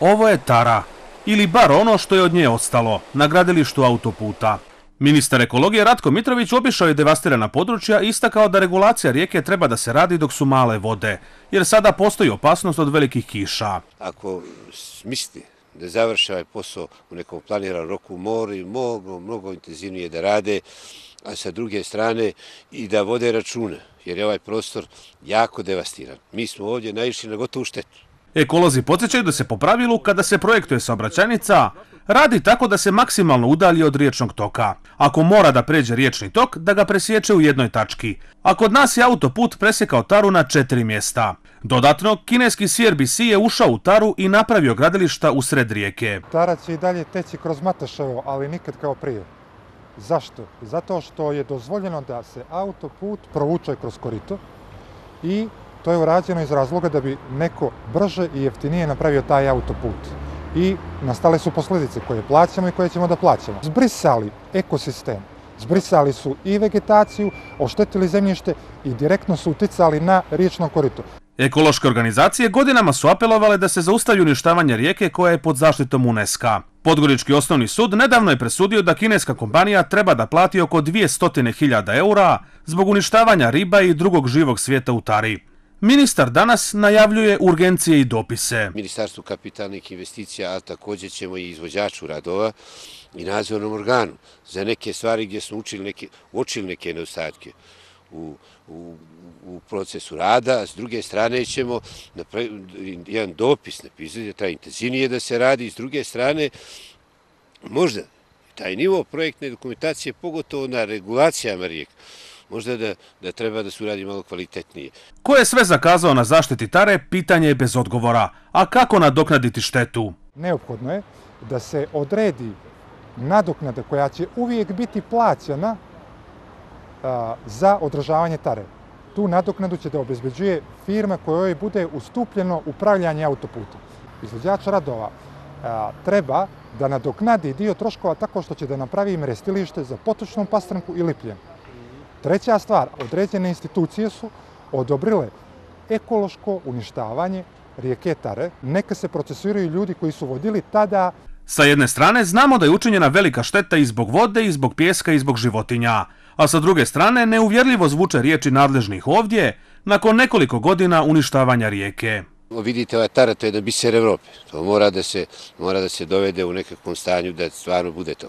Ovo je tara, ili bar ono što je od nje ostalo, na gradilištu autoputa. Ministar ekologije Ratko Mitrović obišao je devastirana područja i istakao da regulacija rijeke treba da se radi dok su male vode, jer sada postoji opasnost od velikih kiša. Ako mislite da završe ovaj posao u nekom planiranom roku, moraju mnogo intenzivnije da rade, a sa druge strane i da vode računa, jer je ovaj prostor jako devastiran. Mi smo ovdje naišli na gotovu štetu. Ekolozi podsjećaju da se po pravilu, kada se projektuje saobraćajnica, radi tako da se maksimalno udalji od riječnog toka. Ako mora da pređe riječni tok, da ga presječe u jednoj tački. A kod nas je autoput presjekao taru na 4 mjesta. Dodatno, kineski CRBC je ušao u taru i napravio gradilišta u sred rijeke. Tara će i dalje teći kroz Mataševo, ali nikad kao prije. Zašto? Zato što je dozvoljeno da se autoput provuče kroz korito i to je urađeno iz razloga da bi neko brže i jeftinije napravio taj autoput. I nastale su posljedice koje plaćamo i koje ćemo da plaćamo. Zbrisali ekosistem, zbrisali su i vegetaciju, oštetili zemljište i direktno su uticali na riječno korito. Ekološke organizacije godinama su apelovale da se zaustavi uništavanje rijeke koja je pod zaštitom UNESCO-a. Podgorički osnovni sud nedavno je presudio da kineska kompanija treba da plati oko 200.000 eura zbog uništavanja riba i drugog živog svijeta u tari. Ministar danas najavljuje urgencije i dopise. Ministarstvu kapitalnih investicija, a također ćemo i izvođaču radova i nadzornom organu za neke stvari gdje smo uočili neke nedostatke u procesu rada. S druge strane ćemo jedan dopis napisati da treba intenzivnije da se radi. S druge strane, možda taj nivo projektne dokumentacije, pogotovo na regulacijama rijeka, možda da treba da se uradi malo kvalitetnije. Ko je sve zakazao na zaštiti tare, pitanje je bez odgovora. A kako nadoknaditi štetu? Neophodno je da se odredi nadoknada koja će uvijek biti plaćana za održavanje tare. Tu nadoknadu će da obezbeđuje firma kojoj bude ustupljeno upravljanje autoputom. Izvođač radova treba da nadoknadi dio troškova tako što će da napravi mrestilište za potočnu pastranku i lipljen. Treća stvar, određene institucije su odobrile ekološko uništavanje rijeke Tare. Neka se procesuiraju ljudi koji su vodili tada. Sa jedne strane znamo da je učinjena velika šteta i zbog vode, i zbog pijeska, i zbog životinja. A sa druge strane neuvjerljivo zvuče riječi nadležnih ovdje nakon nekoliko godina uništavanja rijeke. Vidite, ova Tara, to je jedan biser Evrope. To mora da se dovede u nekakvom stanju da stvarno bude to.